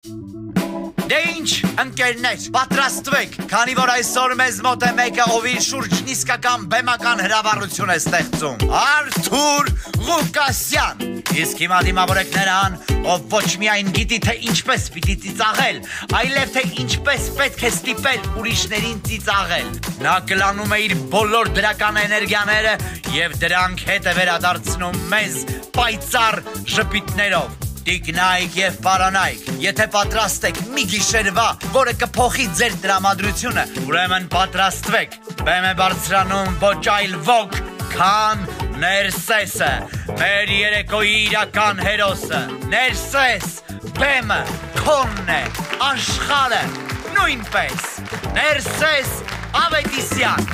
Դե ինչ, ընկերներ, պատրաստվեք, քանի որ այսօր մեզ մոտ է մեկը, ով իր շուրջն իսկական բեմական հրավառություն է ստեղծում։ Արթուր Ղուկասյան։ Իսկ հիմա դիմավորեք նրան, ով ոչ միայն գիտի, թե ինչպես պիտի ծիծաղել, այլև թե ինչպես պետք է ստիպել ուրիշներին ծիծաղել։ Նա կլանում է իր բոլոր դրական էներգիաները եւ դրանք հետ է վերադարձնում մեզ պայծառ ժպիտներով։ Տիկնայք եւ պարանայք, եթե պատրաստ եք մի գիշերվա, որը կփոխի ձեր տրամադրությունը, ուրեմն պատրաստվեք, բեմ է բարձրանում ոչ այլ ոք, քան Ներսեսը, մեր երեկոյի իրական հերոսը, Ներսես, բեմը, քոնն է, աշխարհը, նույնպես, Ներսես Ավետիսյան։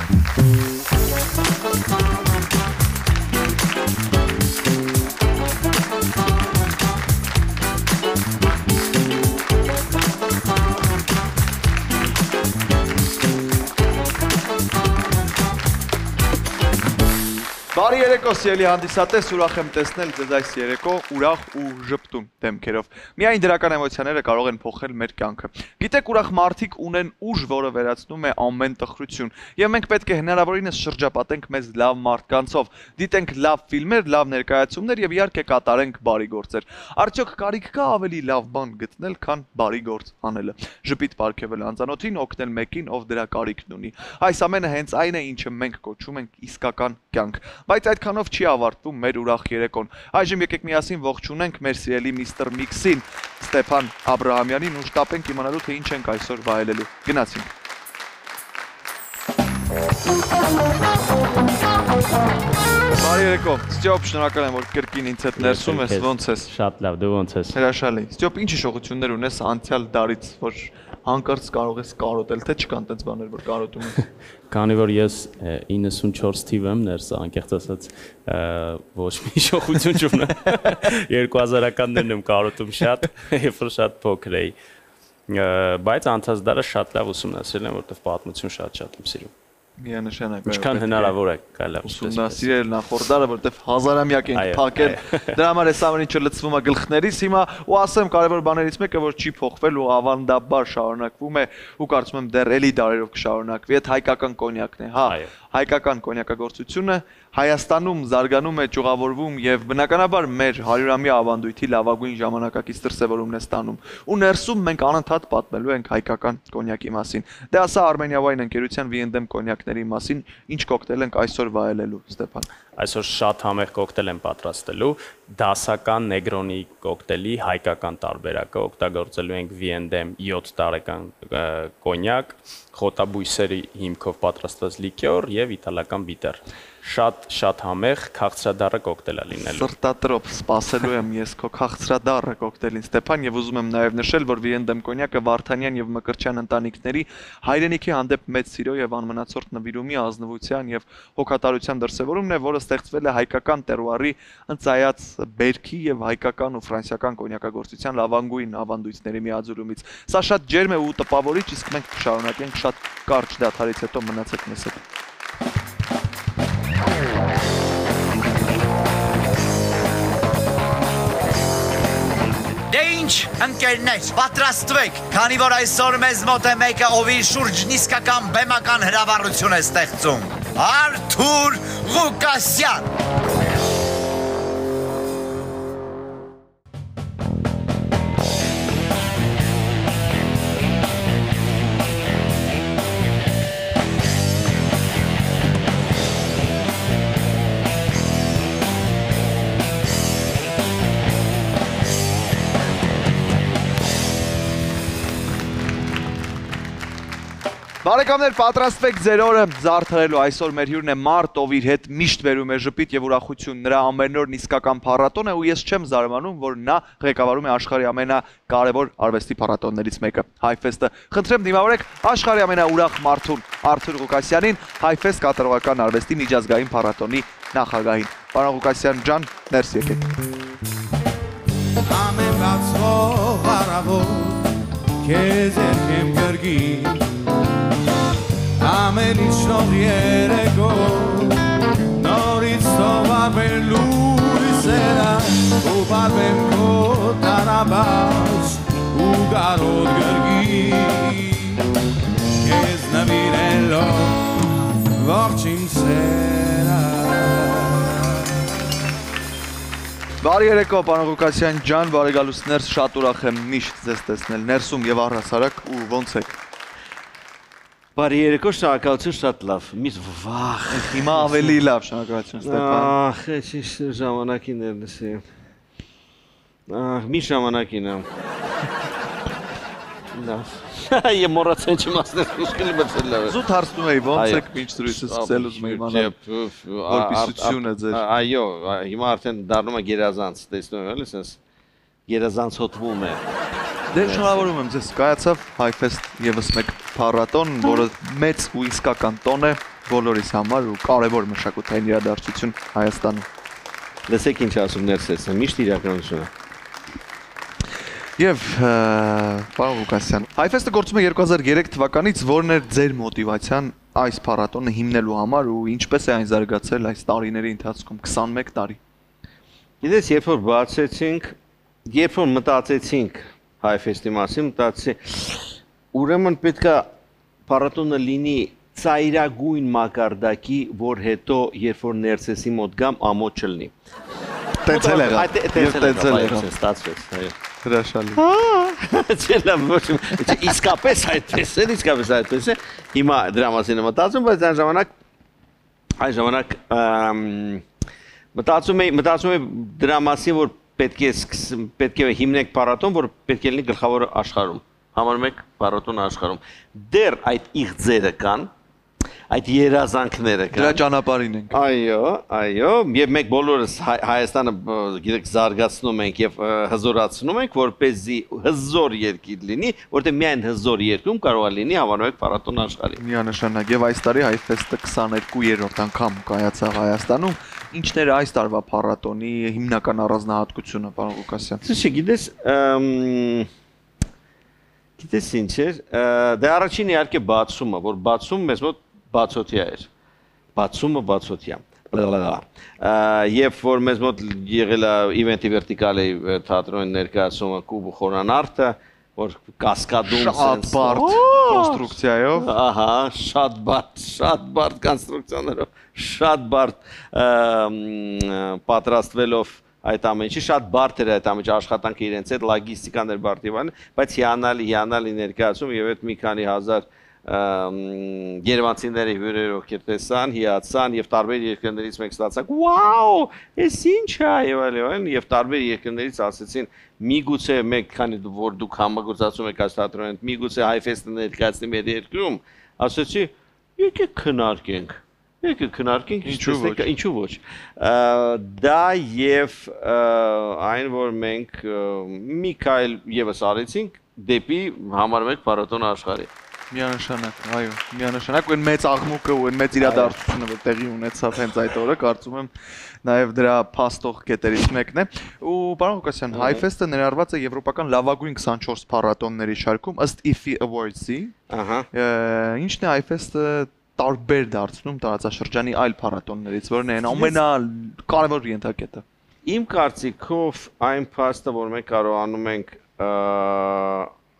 Բարի երեկո, սիրելի հանդիսատես, ուրախ եմ տեսնել ձեզ այս երեկո ուրախ ու ժպտուն դեմքերով։ Միայն դրական էմոցիաները կարող են փոխել մեր կյանքը։ Գիտեք, ուրախ մարդիկ ունեն ուժ, որը վերացնում է ամեն տխրություն, եւ մենք պետք է հնարավորինս շրջապատենք մեզ լավ մարդկանցով, դիտենք լավ ֆիլմեր, լավ ներկայացումներ եւ իհարկե կատարենք բարի գործեր։ Արդյոք կարիք կա ավելի լավ բան գտնել, քան բարի գործ անելը։ Ժպիտ պարգևել անծանոթին, օգնել մեկին, ով դրա կարիքն ունի։ Այս ամենը հենց այն է, ինչը մենք կոչում ենք իսկական կյանք։ Բայց այդքանով չի ավարտվում մեր ուրախ երեկոն։ Այժմ եկեք միասին ողջունենք մեր սիրելի միստր Միքսին, Ստեփան Աբրահամյանին ու շտապենք իմանալու, թե ինչ ենք այսօր վայելելու։ Գնացինք։ Բարի երեկո։ Ստյոպ, շնորհակալ եմ, որ կրկին ինձ հետ ներսում ես, ոնց ես։ Շատ լավ, դու ոնց ես։ Հրաշալի։ Ստյոպ, ինչ հիշողություններ ունես անցյալ դարից, որ հանկարծ կարող ես կարոտել, թե չկան տենց բաներ, որ կարոտում ես։ Քանի որ ես 94 թիվ եմ ներս, անկեղծ ասած, ոչ մի հիշողություն չունեմ։ 2000-ականներն եմ կարոտում շատ, երբ որ շատ փոքր էի։ Բայց անցած դարը շատ լավ ուսումնասիրել եմ, որովհետև պատմություն շատ եմ սիրում։ Միանշանակ ինչքան հնարավոր է կարելի ուսումնասիրել նախորդ դարը, որտեվ հազարամյակ ենք փակել։ Դրա համար էս ամեն ինչը լցվում է գլխներից հիմա ու ասեմ կարևոր բաներից մեկը, որ չի փոխվել ու ավանդաբար շարունակվում է ու կարծում եմ դեռ էլի դարերով կշարունակվի, այդ հայկական կոնյակն է, հա։ Հայկական կոնյակագործությունը Հայաստանում զարգանում է, ճյուղավորվում եւ բնականաբար մեր 100-ամյա ավանդույթի լավագույն ժամանակակից դրսևորումն է ստանում։ Ու ներսում մենք անընդհատ պատմելու ենք հայկական կոնյակի մասին։ Դե ասա Armenia Wine ընկերության V&M կոնյակների մասին, ինչ կոկտեյլ ենք այսօր վայելելու, Ստեփան։ Այսօր շատ համեղ կոկտեյլ եմ պատրաստելու, դասական Negroni կոկտեյլի հայկական տարբերակը, օգտագործելու ենք V&M 7 տարեկան կոնյակ, խոտաբույսերի հիմքով պատրաստված լիկյոր եւ իտալական բիտեր։ Շատ համեղ քաղցրադառը կոկտեյլ է լինելու։ Սրտատրոփ սպասելու եմ ես քո քաղցրադառը կոկտեյլին, Ստեփան, եւ ուզում եմ նաեւ նշել, որ V&M կոնյակը Վարդանյան եւ Մկրտչյան ընտանիքների հայրենիքի հանդեպ մեծ սիրո եւ անմնացորդ նվիրումի, ազնվության եւ հոգատարության դրսևորումն է, որը ստեղծվել է հայկական տերուարի ընծայած բերքի եւ հայկական ու ֆրանսիական կոնյակագործության լավագույն ավանդույթների միաձուլումից։ Սա շատ ջերմ է ու տպավորիչ, իսկ մենք կշարունակենք շատ կարճ դադարից հետո մնացեք մեզ հետ։ Դե ինչ, ընկերներ, պատրաստվեք, քանի որ այսօր մեզ մոտ է մեկը, ով իր շուրջն իսկական բեմական հրավառություն է ստեղծում։ Արթուր Ղուկասյան։ Բարեկամներ, պատրաստվեք ձեր օրը զարդարելու, այսօր մեր հյուրն է մարդ, ով իր հետ միշտ բերում է ժպիտ եւ ուրախություն, նրա ամենօրն իսկական փառատոն է ու ես չեմ զարմանում, որ նա ղեկավարում է աշխարհի ամենակարևոր արվեստի փառատոններից մեկը, Հայֆեստը։ Խնդրեմ դիմավորեք աշխարհի ամենաուրախ մարդուն, Արթուր Ղուկասյանին, Հայֆեստ կատարողական արվեստի միջազգային փառատոնի նախագահին։ Պարոն Ղուկասյան ջան, ներս եկեք։ Ամեն բացվող առավոտ քեզ երկեմ գրգի Ամեն իջնող երեկո նորից սովորվեն լույսերը ու բարվեն քո տարաբաց ու կարոտ գրգի Կեզ նվիրելով ողջին սերա Բարի երեկո, պարոն Ղուկասյան ջան, բարի գալուց ներս, շատ ուրախ եմ միշտ ձեզ տեսնել ներսում եւ առհասարակ ու ոնց եք։ Բարի երեկո, շնորհակալություն, շատ լավ։ Միշտ վախ։ Հիմա ավելի լավ, շնորհակալություն Ստեփան։ Ահ, ճիշտ ժամանակին էր լսի։ Ահ, մի ժամանակին եմ։ Լավ։ Եմ մոռացել չեմ ասել, ուշքելի բացել լավ է։ Զուտ հարցնում էի, ոնց եք մինչ դրույթը սկսել ուզում եմ իմանալ։ Որպիսությունը ձեր։ Այո, հիմա արդեն դառնում է գերազանց, տեսնում եմ, էլի, գերազանց հոտվում է։ Դե շնորհավորում եմ ձեզ, կայացավ Հայֆեստ եւս մեկ փառատոն, որը մեծ ու իսկական տոն է բոլորիս համար ու կարևոր մշակութային իրադարձություն Հայաստանում։ Լսեք ինչ ասում ներսես, միշտ իրականություն է։ Եվ պարոն Ղուկասյան, Հայֆեստը գործում է 2003 թվականից, որն էր ձեր մոտիվացիան այս փառատոնը հիմնելու համար ու ինչպես է այն զարգացել այս տարիների ընթացքում 21 տարի։ Գիտես, երբ որ մտածեցինք Հայֆեստի մասին, մտածեցի, ուրեմն պետք է փառատոնը լինի ծայրագույն մակարդակի, որ հետո երբ որ ներսեսի մոտ գամ, ամոթ չլինի։ Տեցել եղավ, ստացվեց, այո։ Հրաշալի։ Իսկապես այդպես է։ Հիմա դրա մասին եմ մտածում, բայց այն ժամանակ մտածում էի դրա մասին, որ պետք է հիմնենք փառատոն, որ պետք է լինի գլխավոր աշխարհում, համար մեկ փառատոն աշխարհում։ Դեռ այդ իղձերը կան, այդ երազանքները կան։ Դրա ճանապարհին ենք։ Այո, եւ մենք բոլորս Հայաստանը գիտեք զարգացնում ենք եւ հզորացնում ենք, որպեսզի հզոր երկիր լինի, որտեղ միայն հզոր երկրում կարող է լինի համանուն փառատոն աշխարհի։ Միանշանակ եւ այս տարի Հայֆեստը 22-րդ անգամ կայացավ Հայաստանում։ Ինչն էր այս տարվա փառատոնի հիմնական առանձնահատկությունը, պարոն Ղուկասյան։ Գիտես ինչ էր, դե առաջին իհարկե բացումը, որ բացում մեզ մոտ բացօթյա էր, բացումը, երբ որ մեզ մոտ եղել է իվենտի վերտիկալի թատրոնի ներկայացումը Կուբ խորանարդը, որ կասկադում շատ բարդ կոնստրուկցիայով, ահա, շատ բարդ կոնստրուկցիաներով, շատ բարդ պատրաստվելով այդ ամենի, շատ բարդ էր այդ ամենի աշխատանքը իրենց հետ, լոգիստիկան էր բարդ եւ այլն, բայց հիանալի ներկայացում եւ այդ մի քանի հազար երևանցիների հյուրեր ովքեր տեսան, հիացան եւ տարբեր երկրներից մենք ստացանք, «Վաու, էս ինչ է» եւ այլն, եւ տարբեր երկրներից ասեցին, միգուցե մենք քանի որ դուք համագործակցում եք այս թատրոնին, միգուցե Հայֆեստը ներկայացնի մեր երկրում, ասեցի, եկեք քննարկենք, ինչու ոչ։ Դա եւ այն որ մենք մի քայլ եւս արեցինք դեպի համար մեկ փառատոն աշխարհի։ Միանշանակ, այո, միանշանակ ու այն մեծ աղմուկը ու այն մեծ իրադարձությունը, որ տեղի ունեցավ հենց այդ օրը, կարծում եմ նաև դրա փաստող կետերից մեկն է։ Ու պարոն Ղուկասյան, Հայֆեստը ներառված է եվրոպական լավագույն 24 փառատոնների շարքում ըստ IFFI Awards-ի։ Ահա։ Ինչն է Հայֆեստը տարբեր դարձնում տարածաշրջանի այլ փառատոններից, որն է ամենակարևոր ենթակետը։ Իմ կարծիքով այն փաստը, որ մենք կարողանում ենք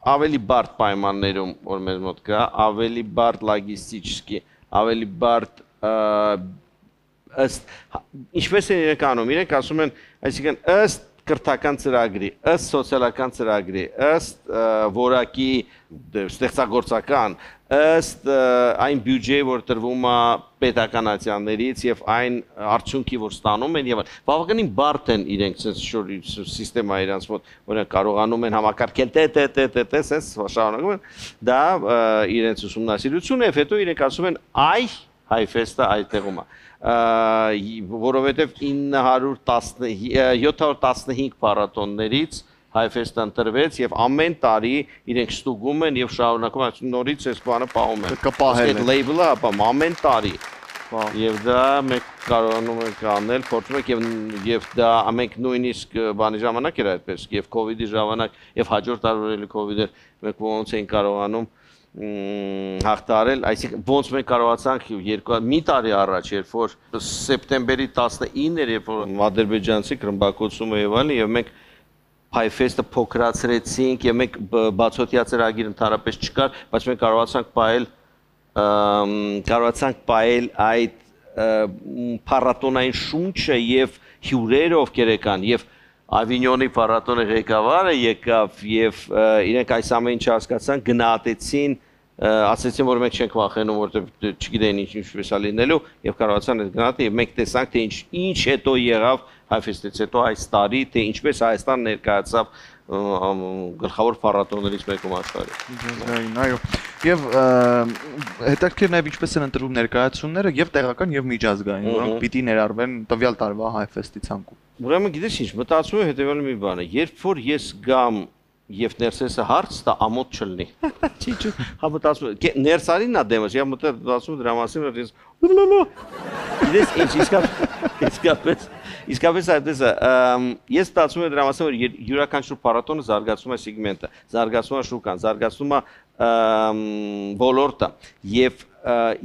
ավելի բարդ պայմաններում, որ մեզ մոտ կա, ավելի բարդ լոգիստիկի, ավելի բարդ ըստ ինչպես են իրենք անում, իրենք ասում են, այսինքն ըստ կրթական ծրագրի, ըստ սոցիալական ծրագրի, ըստ որակի ստեղծագործական, ըստ այն բյուջեի, որ տրվում է պետականացիաներից եւ այն արդյունքի, որ ստանում են եւ բավականին բարդ են իրենք սիստեմա իրանց մոտ, որոնք կարողանում են համակարգել տես շարունակում են, դա իրենց ուսումնասիրություն է, հետո իրենք ասում են այ Հայֆեստը այդտեղում է, որովհետև 715 փառատոններից Հայֆեստը ընտրվեց եւ ամեն տարի իրենք ստուգում են եւ շարունակում են նորից այս բանը պահում են։ Այդ լեյբլը ապա ամեն տարի։ Եվ դա մենք կարողանում ենք անել, փորձում ենք եւ դա ամենք նույնիսկ բանի ժամանակ էր այդպես, եւ կոവിഡ്ի ժամանակ եւ հաջորդ տարվա կոവിഡ്ը մենք ոնց էին կարողանում հաղթարել, այսինքն ոնց մենք կարողացանք մի տարի առաջ, երբ որ սեպտեմբերի 19-ը, երբ որ ադրբեջանցի ռմբակոծումը եւ այլն, եւ մենք Հայֆեստը փոքրացրեցինք եւ մենք բացօթյա ծրագիր ընդհանրապես չկար, բայց մենք կարողացանք պահել այդ փառատոնային շունչը եւ հյուրերը ովքեր եկան եւ Ավինյոնի փառատոնի ղեկավարը եկավ եւ իրենք այս ամեն ինչը հասկացան, գնահատեցին, ասացին որ մենք չենք վախենում, որովհետեւ չգիտեն ինչպես է լինելու եւ կարողացան այդ գնահատել եւ մենք տեսանք թե ինչ հետո եղավ Հայֆեստից հետո այս տարի, թե ինչպես Հայաստան ներկայացավ գլխավոր փառատոներից մեկում աշխարհի։ Այո։ Եվ հետաքրքիր նաև ինչպես են ընտրվում ներկայացումները եւ տեղական եւ միջազգային, որոնք պիտի ներառվեն տվյալ տարվա Հայֆեստի ցանկում։ Ուրեմն գիտես ինչ, մտածում եմ հետեւյալ մի բանը, երբ որ ես գամ եւ ներսեսը հարց տա ամոթ չլինի։ Չի, հա մտածում եմ, ներսարինն է դեմս, եւ մտածում դրա մասին, որ ես գիտես ինչ իսկապես այդպես է, ես մտածում եմ դրա մասին, որ յուրաքանչյուր փառատոնը զարգացում է սեգմենտը, զարգացում է շուկան, զարգացում է ոլորտը եւ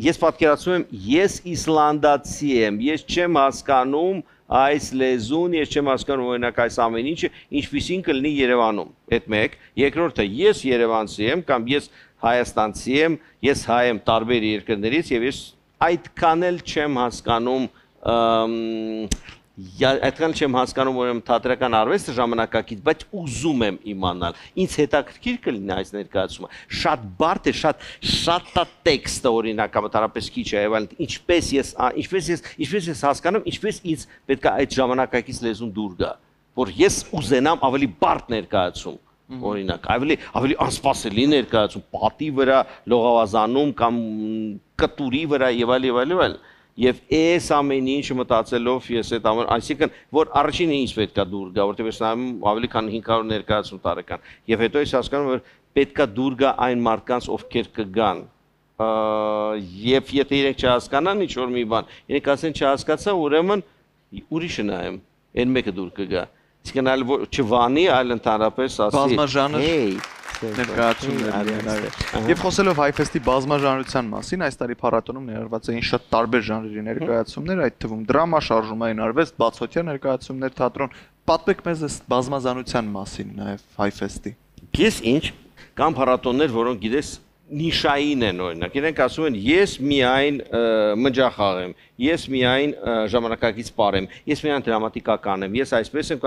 ես պատկերացնում եմ, ես իսլանդացի եմ, ես չեմ հասկանում այս լեզուն, ես չեմ հասկանում օրինակ այս ամեն ինչը, ինչպիսին կլինի Երևանում։ Այդ մեկ, երկրորդը ես երևանցի եմ կամ ես հայաստանցի եմ, ես հայ եմ տարբեր երկրներից եւ ես այդքան էլ չեմ հասկանում ուրեմն թատրական արվեստը ժամանակակից, բայց ուզում եմ իմանալ։ Ինձ հետաքրքիր կլինի այս ներկայացումը։ Շատ բարդ է, շատ տեքստը օրինակ համատարապես քիչ է, այլ ինչպես ես հասկանում, ինչպես ինձ պետք է այդ ժամանակակից լեզուն դուր գա, որ ես ուզենամ ավելի բարդ ներկայացում։ Օրինակ, ավելի անսպասելի ներկայացում, պատի վրա, լողավազանում կամ կտուրի վրա եւ այլ։ Եվ այս ամեն ինչը մտածելով ես այդ ամեն, այսինքն որ առաջինը ինչ պետքա դուր գա, որտեղ ես նայում ավելի քան 500 ներկայացում տարեկան, եւ հետո ես հասկանում որ պետքա դուր գա այն մարդկանց, ովքեր կգան, եւ եթե իրենք չհասկանան ինչ որ մի բան, իրենք ասեն չհասկացա, ուրեմն ուրիշը նայեմ, այն մեկը դուր կգա, իսկ այլ չվանի, այլ ընդհանրապես ասի, ներկայացումներ։ Եվ խոսելով Հայֆեստի բազմաժանրության մասին, այս տարի փառատոնում ներառված էին շատ տարբեր ժանրերի ներկայացումներ, այդ թվում դրամա, շարժումային արվեստ, բացօթյա ներկայացումներ, թատրոն։ Պատմեք մեզ այս բազմազանության մասին նաև Հայֆեստի։ Ես ինչ կամ փառատոններ, որոնք գիտես նիշային են օրինակ, իրենք ասում են ես միայն մնջախաղ եմ, ես միայն ժամանակակից պարեմ, ես միայն դրամատիկական եմ, ես այսպես եմ,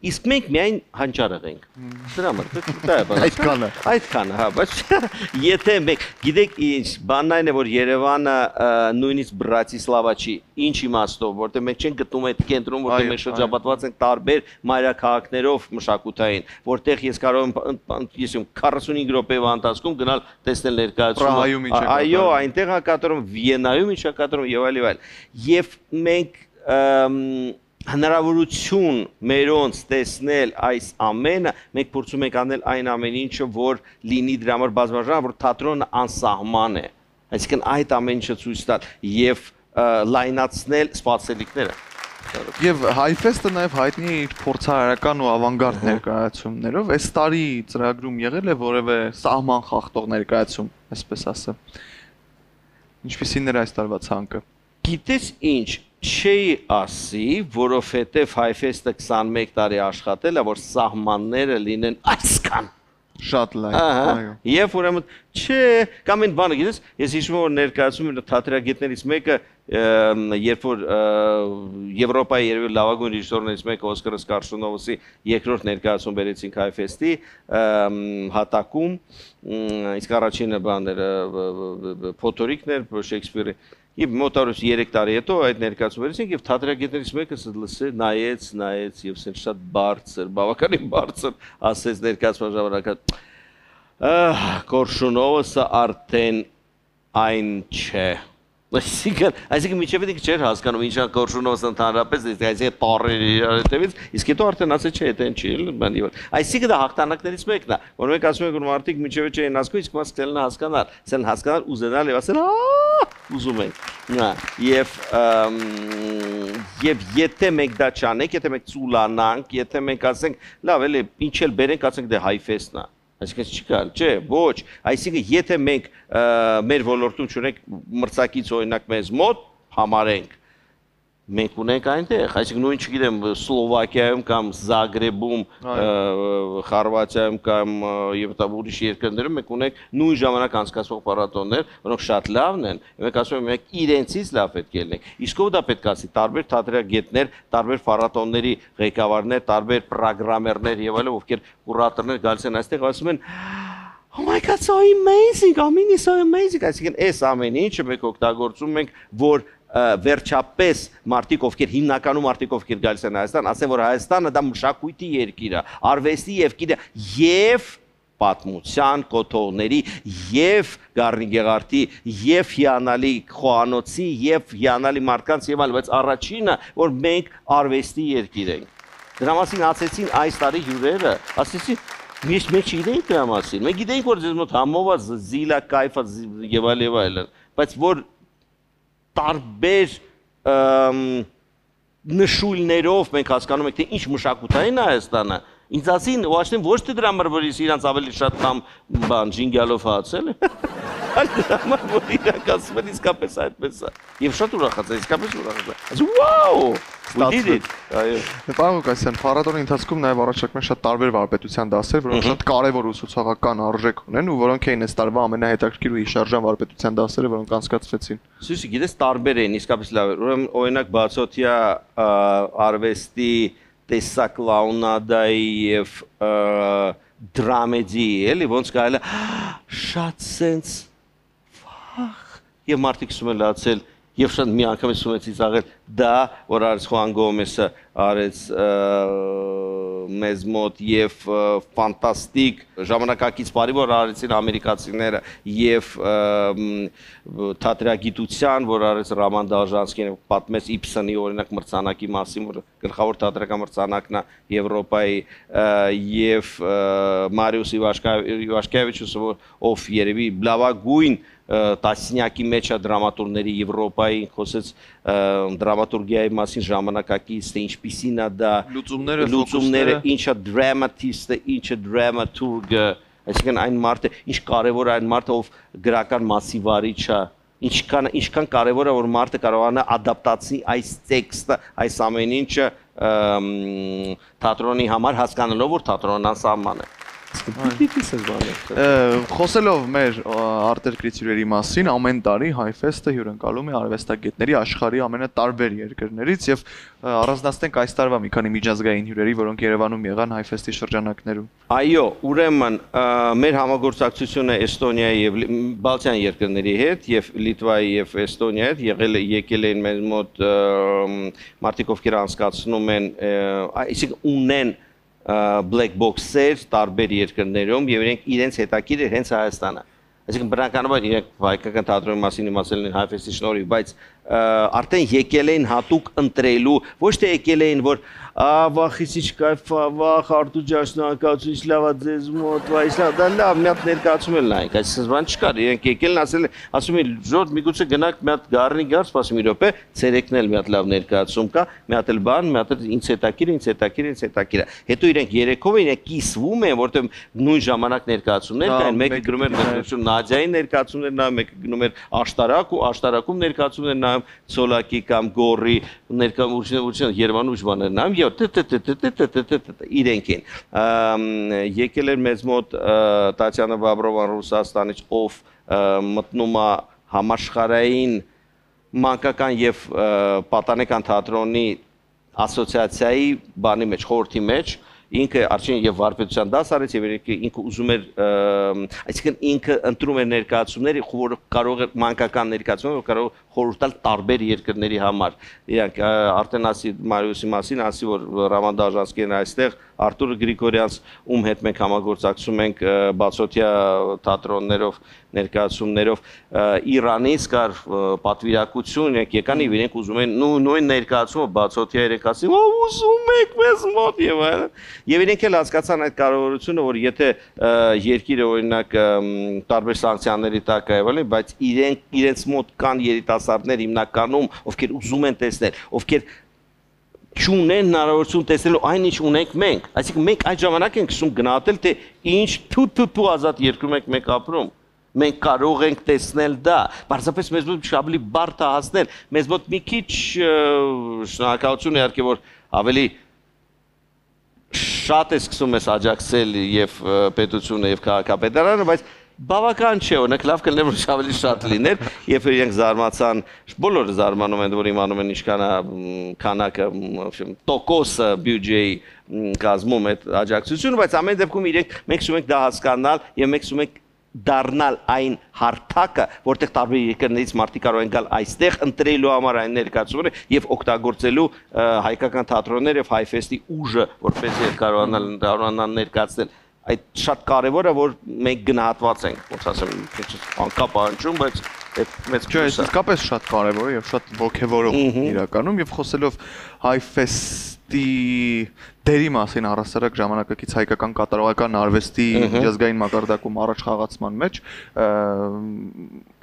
իսկ մենք միայն հանճարեղ ենք։ Դրա համար, այդքանը, հա, բայց եթե մենք, գիտեք ինչ, բանն այն է, որ Երևանը նույնիսկ Բրատիսլավա չի, ինչ իմաստով, որտեղ մենք չենք գտնում այդ կենտրոնում, որտեղ մենք շրջապատված ենք տարբեր մայրաքաղաքներով մշակութային, որտեղ ես կարող եմ, ես 45 րոպեվա ընթացքում գնալ տեսնել ներկայացումը, այո, այնտեղ է կատարում, Վիեննայում ինչ է կատարում եւ այլ։ Եվ մենք հնարավորություն մերոնց տեսնել այս ամենը, մենք փորձում ենք անել այն ամեն ինչը, որ լինի դրա համար բազմաժանր, որ թատրոնը անսահման է, այսինքն այդ ամեն ինչը ցույց տալ եւ լայնացնել սպասելիքները։ Եվ Հայֆեստը նաև հայտնի է իր փորձարարական ու ավանգարդ ներկայացումներով, այս տարի ծրագրում եղել է որևէ սահման խախտող ներկայացում, այսպես ասեմ։ Ինչպիսին էր այս տարվա ցանկը։ Գիտես ինչ, չի ասի, որովհետև Հայֆեստը 21 տարի աշխատել է, որ սահմանները լինեն այսքան շատ լավ, այո։ Եվ ուրեմն չէ, կամ այն բանը, գիտես, ես հիշում եմ որ ներկայացում թատրագետներից մեկը, երբ որ Եվրոպայի երևի լավագույն ռեժիսորներից մեկը Օսկար Սկարշունովսի երկրորդ ներկայացում բերեցինք Հայֆեստի հատակում, իսկ առաջինը բաներ Փոթորիկն էր Շեքսպիրի։ Եվ մոտավորապես 3 տարի հետո այդ ներկայացում վերցինք եւ թատրագետներից մեկը լսեց, նայեց եւ սենց շատ բարձր, բավականին բարձր ասեց ներկայացման ժամանակ Կորշունովսը արդեն այն չէ։ Այսինքն միջև դիք չէր հասկանում ինչա Կորշունովսը ընդհանրապես այսինքն տարերի հետևից, իսկ հետո արդեն ասեց չէ, դա չի, բանի որ։ Այսինքն դա հաղթանակներից մեկն է, որ մենք ասում ենք որ մարդիկ միջև չէին հասկանում, իսկ մաս կլինի հասկանալ, ասեն հասկանալ, ուզենալ եւ ասեն ուզում ենք։ Եվ եթե մենք դա չանենք, եթե մենք ծուլանանք, եթե մենք ասենք, լավ, էլի ինչ էլ բերենք, ասենք դե Հայֆեստն է։ Այսինքն չի կարելի, չէ, ոչ, այսինքն եթե մենք մեր ոլորտում չունենք մրցակից օրինակ մեզ մոտ համարենք, մենք ունենք այնտեղ, այսինքն նույն չգիտեմ Սլովակիայում կամ Զագրեբում, Խորվաթիայում կամ եւ ուրիշ երկրներում մենք ունենք նույն ժամանակ անցկացվող փառատոներ, որոնք շատ լավն են, մենք ասում ենք մենք իրենցից լավ պետք է լինենք։ Իսկ ով դա պետք է ասի, տարբեր թատերագետներ, տարբեր փառատոների ղեկավարներ, տարբեր պրոգրամերներ եւ այլն, ովքեր կուրատորներ գալիս են այստեղ ասում են Oh my God, so amazing, ամենի so amazing, այսինքն այս ամեն ինչը մենք օգտագործում ենք, որ վերջապես մարդիկ ովքեր հիմնականում մարդիկ ովքեր գալիս են Հայաստան, ասեն որ Հայաստանը դա մշակույթի երկիր է, արվեստի երկիր է եւ պատմության կոթողների եւ Գառնիգեղարդի եւ հիանալի խոհանոցի եւ հիանալի մարդկանց եւ այլն, բայց առաջինը որ մենք արվեստի երկիր ենք։ Դրա մասին ասեցին այս տարի հյուրերը, ասեցին մենք չգիտենք դրա մասին։ Մենք գիտենք որ ձեզ մոտ համովա զիլա կայֆա եւ այլն, բայց որ տարբեր նշույլներով մենք հասկանում ենք թե ինչ մշակութային է Հայաստանը, ինձ ասին ուղղակի ոչ թե դրա համար որ իրանց ավելի շատ կամ բան ջինգալով հացել է, այլ դրա համար որ իրանք ասում են իսկապես այդպես է։ Եվ շատ ուրախացա, իսկապես ուրախացա։ Ասում վաու, we did it։ Այո։ Պարոն Ղուկասյան, փառատոնի ընթացքում նաև առաջարկում են շատ տարբեր վարպետության դասեր, որոնք շատ կարևոր ուսուցողական արժեք ունեն ու որոնք էին այս տարվա ամենահետաքրքիր ու հիշարժան վարպետության դասերը, որոնք անցկացվեցին։ Սույսի, գիտես, տարբեր էին, իսկապես լավ էր։ Ուրեմն օրինակ բացօթյա արվեստի տեսակ լաունադայի եւ դրամեդի, էլի ոնց կարելի շատ սենց եւ մարդիկ ասում են լացել եւ շատ մի անգամ ասում են ծիծաղել դա որ արեց Խուան Գոմեսը արեց մեզ մոտ եւ ֆանտաստիկ ժամանակակից բարի որ արեցին ամերիկացիները եւ թատրագիտության որ արեց Ռաման Դալժանսկին պատմեց Իբսոնի օրինակ մրցանակի մասին որ գլխավոր թատրական մրցանակն է Եվրոպայի եւ Մարիուս Իվաշկևիչը ով երևի լավագույն տասնյակի մեջ է դրամատուրգների Եվրոպայի խոսեց դրամատուրգիայի մասին ժամանակակից թե ինչպիսին է դա լուծումները ինչա դրամատիստը ինչա դրամատուրգը այսինքն այն մարդը ինչ կարևոր է այն մարդը ով գրական մասի վարիչ է ինչքան կարևոր է որ մարդը կարողանա ադապտացնի այս տեքստը այս ամեն ինչը թատրոնի համար հասկանալով որ թատրոնն անսահման է Խոսելով մեր արտերկրից հյուրերի մասին, ամեն տարի Հայֆեստը հյուրընկալում է արվեստագետների աշխարհի ամենատարբեր երկրներից եւ առանձնացնենք այս տարվա մի քանի միջազգային հյուրերի, որոնք Երևանում եղան Հայֆեստի շրջանակներում։ Այո, ուրեմն մեր համագործակցությունը Էստոնիայի եւ Բալթյան երկրների հետ եւ Լիտվայի եւ Էստոնիայի հետ եկել են մեզ մոտ մարդիկ ովքեր անցկացնում են, այսինքն ունեն black box-եր տարբեր երկրներում եւ իրենց հետաքրքիր է հենց Հայաստանը։ Այսինքն բնականաբար իրենք հայկական թատրոնի մասին իմացել են Հայֆեստի շնորհիվ, բայց արդեն եկել էին հատուկ ընտրելու, ոչ թե եկել էին որ վախից ինչ կայֆ վախ արտու ջաշնակացու ինչ լավա ձեզ մոտ վայ դա լավ մի հատ ներկայացում են նայեք այսպես բան չկար իրենք եկել են ասում են ժորդ միգուցե գնանք մի հատ գառնի գար սպասում մի րոպե ցերեկն էլ մի հատ լավ ներկայացում կա մի հատ էլ բան մի հատ ինձ հետաքրիր հետո իրենք երեքով իրենք կիսվում են որտեղ նույն ժամանակ ներկայացումներ կային մեկը գրում էր ներկայացում Նադյայի ներկայացումներ նայում մեկը գնում էր աշտարակ ու աշտարակում ներկայացումներ նայում Սոլակի կամ Գորի ներկայացում Երևանում ուժ բաներ նայում իրենք են եկել էր մեզ մոտ Տատյանա Բաբրովան Ռուսաստանից ով մտնում է համաշխարհային մանկական եւ պատանեկան թատրոնի ասոցիացիայի բանի մեջ խորհրդի մեջ ինքը արդեն եւ վարպետության դաս արեց եւ ինքը ուզում էր այսինքն ինքը ընտրում էր ներկայացումներ որ կարող է մանկական ներկայացումներ որ կարող խորհուրդ տալ տարբեր երկրների համար իրանք արդեն ասի Մարիուսի մասին ասի որ Ռաման Դալժանսկին այստեղ Արտուր Գրիգորյանց ում հետ մենք համագործակցում ենք բացօթյա թատրոններով ներկայացումներով Իրանից կար պատվիրակություն եկան եւ իրենք ուզում են նույն ներկայացումը բացօթյա իրենք ասին ուզում եք մեզ մոտ եւ այլն եւ իրենք էլ հասկացան այդ կարողությունը որ եթե երկիրը օրինակ տարբեր սանկցիաների տակ է այլն բայց իրենց մոտ կան երիտասարդներ հիմնականում ովքեր ուզում են տեսնել ովքեր չունեն հնարավորություն տեսնելու այն ինչ ունենք մենք այսինքն մենք այդ ժամանակ ենք սկսում գնահատել թե ինչ թու ազատ երկրում ենք մենք ապրում Մենք կարող ենք տեսնել դա, բարձրապես մեզ մոտ ավելի բարդ է հասնել, մեզ մոտ մի քիչ շնորհակալություն իհարկե որ ավելի շատ է սկսում ես աջակցել եւ պետությունը եւ քաղաքապետարանը, բայց բավական չէ, օրինակ լավ կլիներ որ ավելի շատ լիներ, երբ իրենք զարմացան, բոլորը զարմանում են, որ իմանում են ինչքան է քանակը, տոկոսը բյուջեի կազմում այդ աջակցությունը, բայց ամեն դեպքում իրենք մենք ուզում ենք դա հասկանալ եւ մենք ուզում ենք դառնալ այն հարթակը, որտեղ տարբեր երկրներից մարդիկ կարող են գալ այստեղ ընտրելու համար այն ներկայացումները եւ օգտագործելու հայկական թատրոններ եւ հայֆեստի ուժը, որպեսզի կարողանան ներկայացնել։ Այդ շատ կարևոր է, որ մենք գնահատված ենք, ոնց ասեմ, անկապ անջում, բայց այդ մեծ ճիշտ է, իսկապես շատ կարևոր է եւ շատ ողջևորող իրականում եւ խոսելով հայֆեստի դերի մասին առասարակ ժամանակակից հայկական կատարողական արվեստի միջազգային մակարդակում առաջ խաղացման մեջ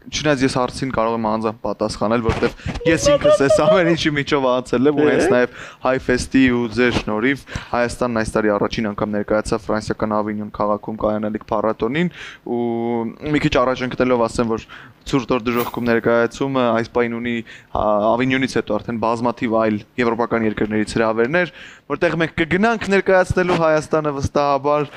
չնայած ես հարցին կարող եմ անձամբ պատասխանել, որովհետև ես ինքս այս ամեն ինչի միջով անցել եմ ու հենց նաև հայֆեստի ու ձեր շնորհիվ Հայաստանն այս տարի առաջին անգամ ներկայացավ ֆրանսիական Ավինյոն քաղաքում կայանալիք փառատոնին ու մի քիչ առաջ ընկնելով ասեմ, որ ցուրտ օր դժոխքում ներկայացումը այս պայն ունի Ավինյոնից հետո արդեն բազմաթիվ այլ եվրոպական երկրներից հրավերներ, որտեղ մենք կգնանք ներկայացնելու Հայաստանը վստահաբար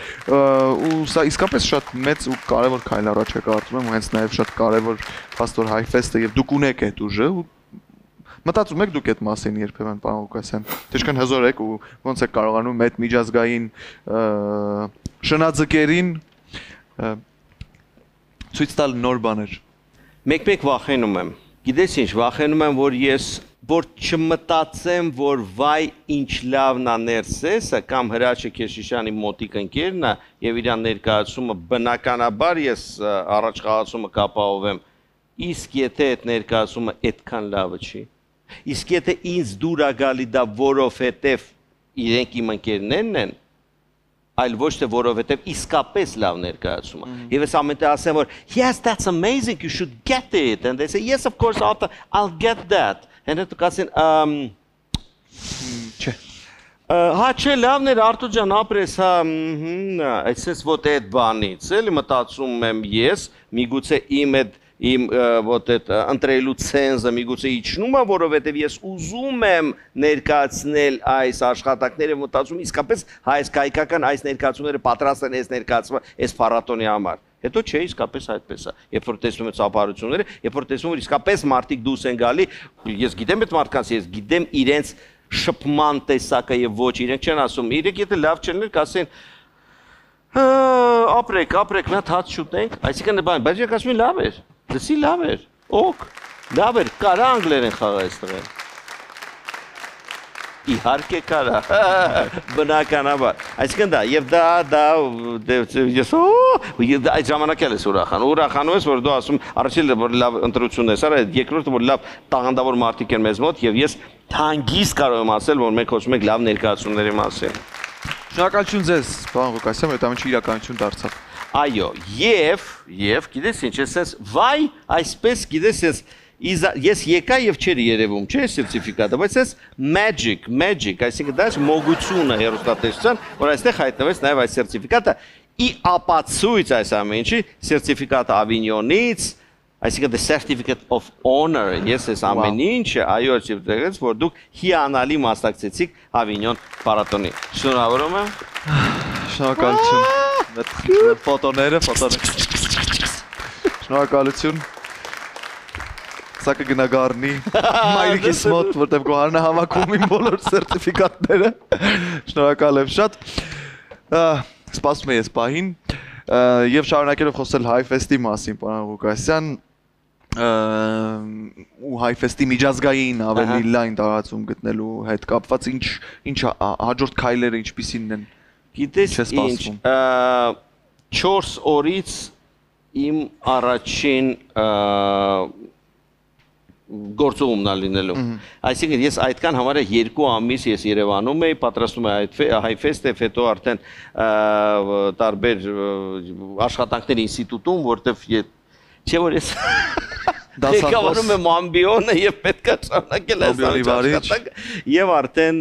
ու սա իսկապես շատ մեծ ու կարևոր քայլ առաջ է կարծում եմ ու հենց նաև շատ կարևոր Պաստոր հայֆեստը եւ դուք ունեք այդ ուժը ու մտածում եք դուք այդ մասին երբեմն պարոն Ղուկասյան թե ինչքան հզոր եք ու ոնց եք կարողանում այդ միջազգային շնաձկերին ցույց տալ նոր բաներ մեկ-մեկ վախենում եմ գիտես ինչ վախենում եմ որ ես որ չմտածեմ որ վայ ինչ լավն է ներսեսը կամ Հրաչը Քեշիշյանի մոտիկ ընկերն է եւ իրան ներկայացումը բնականաբար ես առաջ խաղացումը կապահովեմ իսկ եթե այդ ներկայացումը այդքան լավը չի իսկ եթե ինձ դուր է գալի դա որովհետեւ իրենք իմ ընկերներն են այլ ոչ թե որովհետեւ իսկապես լավ ներկայացում է եւ ես ամենտեղ ասեմ որ yes that's amazing you should get it and they say yes of course I'll get that and դուք ասեն չէ հա չէ լավն էր Արտուր ջան ապրես հա այսպես ոտ այդ բանից էլի մտածում եմ ես միգուցե իմ այդ իմ ոտ այդ ընտրելու ցենզը միգուցե իջնում է որովհետև ես ուզում եմ ներկայացնել այս աշխատանքները մտածում իսկապես հայ հայկական այս ներկայացումները պատրաստ են այս ներկայացումը այս փառատոնի համար Հետո չէ իսկապես այդպես է։ Երբ որ տեսնում ես ապարությունները, երբ որ տեսնում որ իսկապես մարդիկ դուրս են գալի, ես գիտեմ այդ մարդկանց, ես գիտեմ իրենց շփման տեսակը եւ ոչ, իրենք չեն ասում, իրենք եթե լավ չներ, կասեն ապրեք, մի հատ հաց շուտենք, այսինքն բան, բայց ես ասում եմ լավ էր, դասի լավ էր, օք, լավ էր, կարա անգլերեն խաղա այստեղ։ Իհարկե կարա, բնականաբար, այսինքն դա, և դա, ես այդ ժամանակ էլ ես ուրախանում ես, որ դու ասում, առաջին որ լավ ընտրություն ես, երկրորդը որ լավ տաղանդավոր մարդիկ են մեզ մոտ, և ես հանգիստ կարող եմ ասել, որ մենք խոսում ենք լավ ներկայացումների մասին։ Շնորհակալություն ձեզ, պարոն Ղուկասյան, որ դա իրականություն դարձավ։ Այո, և գիտես ինչ, ես վայ, այսպես գիտես ես եկա և չեր երևում, չէ սերտիֆիկատը, բայց ես magic, այսինքն դա մոգությունը հեռուստատեսության, որ այստեղ հայտնվեց նաև այս սերտիֆիկատը, ի ապացույց այս ամեն ինչի, սերտիֆիկատը Ավինյոնից, այսինքն the certificate of honor, ես այս ամեն ինչը, այո, չիվտեղեց, որ դուք հիանալի մասնակցեցիք Ավինյոն փառատոնի։ Շնորհավորում եմ։ Շնորհակալություն։ Ֆոտոները։ Շնորհակալություն։ Սա կգնա գառնի մայրիկիս մոտ, որտև գոհարն է հավաքում իմ բոլոր սերտիֆիկատները։ Շնորհակալ եմ շատ։ Սպասում եմ ես պահին և շարունակելով խոսել հայֆեստի մասին, պարոն Ղուկասյան, ու հայֆեստի միջազգային ավելի լայն տարածում գտնելու հետ կապված ինչ հաջորդ քայլերը ինչպիսին են։ Գիտես ինչ, 4 օրից իմ առաջին գործողումն է լինելու։ Այսինքն ես այդքան համարը 2 ամիս ես Երևանում էի, պատրաստում եմ հայֆեստ, հետո արդեն տարբեր աշխատանքներ ինստիտուտում, որտեվ չէ որ ես ղեկավարում եմ ամբիոնը և պետք է շարունակել այս աշխատանքը և արդեն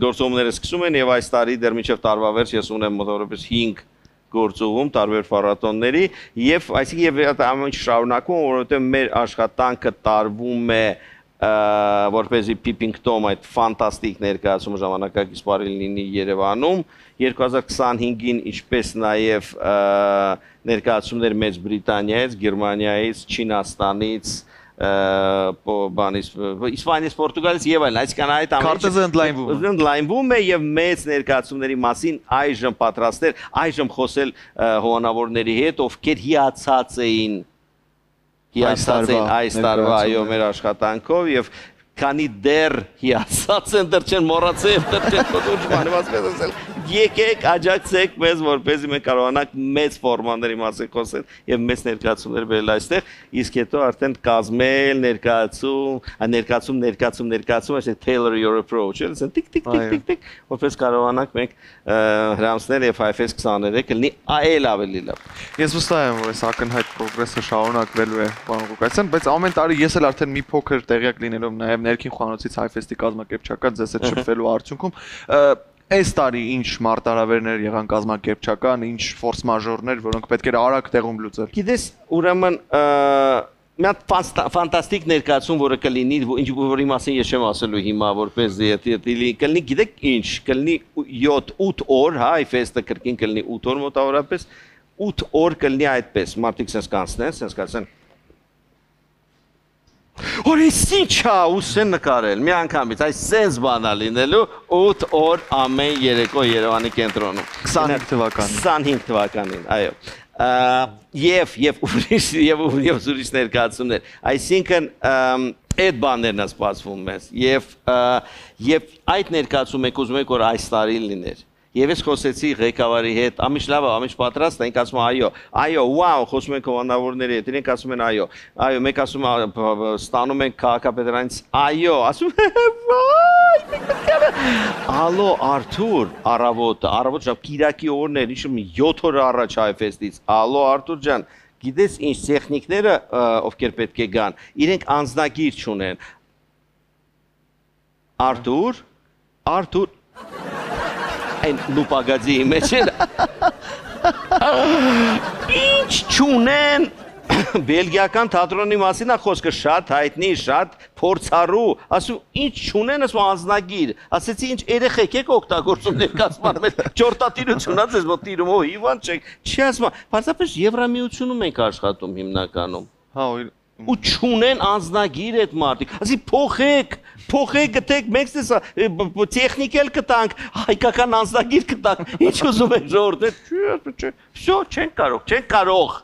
գործողումները սկսում են և այս տարի դեռ մինչև տարվա վերջ ես ունեմ մոտավորապես 5 գործողում տարբեր փառատոնների եւ այսինքն եւ ամեն ինչ շարունակում, որովհետեւ մեր աշխատանքը տարվում է որպեսզի Peeping Tom այդ ֆանտաստիկ ներկայացումը ժամանակակից բարի լինի Երևանում 2025-ին ինչպես նաև ներկայացումներ Մեծ Բրիտանիայից, Գերմանիայից, Չինաստանից, Իսպանիայից, Պորտուգալից եւ այլն, այսինքն այդ քարտեզը ընդլայնվում է եւ մեծ ներկայացումների մասին այժմ պատրաստել, այժմ խոսել հովանավորների հետ, ովքեր հիացած էին այս տարվա այո մեր աշխատանքով եւ քանի դեռ հիացած են դեռ չեն մոռացել դեռ չեն կոչման ասել ասել եկեք աջակցեք մեզ որպեսզի մենք կարողանանք մեծ ֆորմաների մասին խոսել եւ մեծ ներկայացումներ բերել այստեղ իսկ հետո արդեն կազմել ներկայացում այսինքն tailor your approach այսինքն տիկ տիկ տիկ տիկ որպես կարողանանք մենք հրամցնել եւ IFS 23 կլինի այլ ավելի լավ ես վստահ եմ որ այս ակնհայտ պրոգրեսը շարունակվելու է պարոն Ղուկասյան բայց ամեն տարի ես էլ արդեն մի փոքր տեղյակ լինելով նաեւ ներքին խոհանոցից Հայֆեստի կազմակերպչական ձեզ հետ շփվելու արդյունքում այս տարի ինչ մարտահրավերներ եղան կազմակերպչական, ինչ ֆորս մաժորներ, որոնք պետք էր արագ տեղում լուծել։ Գիտես, ուրեմն մի հատ ֆանտաստիկ ներկայացում, որը կլինի, որի մասին ես չեմ ասելու հիմա, որպես կլինի, գիտեք ինչ, կլինի 7-8 օր, հա, Հայֆեստը կրկին կլինի 8 օր մոտավորապես, 8 օր կլինի այդպես, մարդիկ սենց կանցնեն, Որ ես ինչ է ուսեն նկարել, մի անգամից, այս սենց բան է լինելու 8 օր ամեն երեկո Երևանի կենտրոնում 25 թվականին 25 թվականին, այո և ուրիշ ներկայացումներ այսինքն այդ բաներն է սպասվում մեզ և այդ ներկայացում եք ուզում եք որ այս տարի լիներ Եվ ես խոսեցի ղեկավարի հետ, ամիջ լավ է, ամիջ պատրաստ է, ինք ասում այո, վաու, խոսում ենք հովանավորների հետ, իրենք ասում են այո, մեկ ասում ստանում ենք քաղաքապետարանից, այո, ասում Ալո, Արթուր, առավոտ շապ կիրակի օրներ, ինչում 7 օր առաջ Հայֆեստից, ալո, Արթուր ջան, գիտես ինչ տեխնիկները, ովքեր պետք է գան, իրենք անձնագիր չունեն, Արթուր, Այն լուպագadzի մեջ էլ Ինչ չունեն Բելգիական թատրոնի մասին է խոսքը շատ հայտնի, շատ փորձառու ասում ինչ չունեն ասում անձնագիր ասեցի ինչ երեխեք եք օգտագործում ներկայացման մեջ ճորտատիրություն ա ձեզ մոտ տիրում հիվանդ չեք չի ասում բացապես Եվրամիությունում ենք աշխատում հիմնականում Հա ու չունեն անձնագիր այդ մարդիկ ասի փոխեք գտեք մենք տեսա տեխնիկել կտանք հայկական անձնագիր կտանք ինչ ուզում եք ժողովուրդ վсё չեն կարող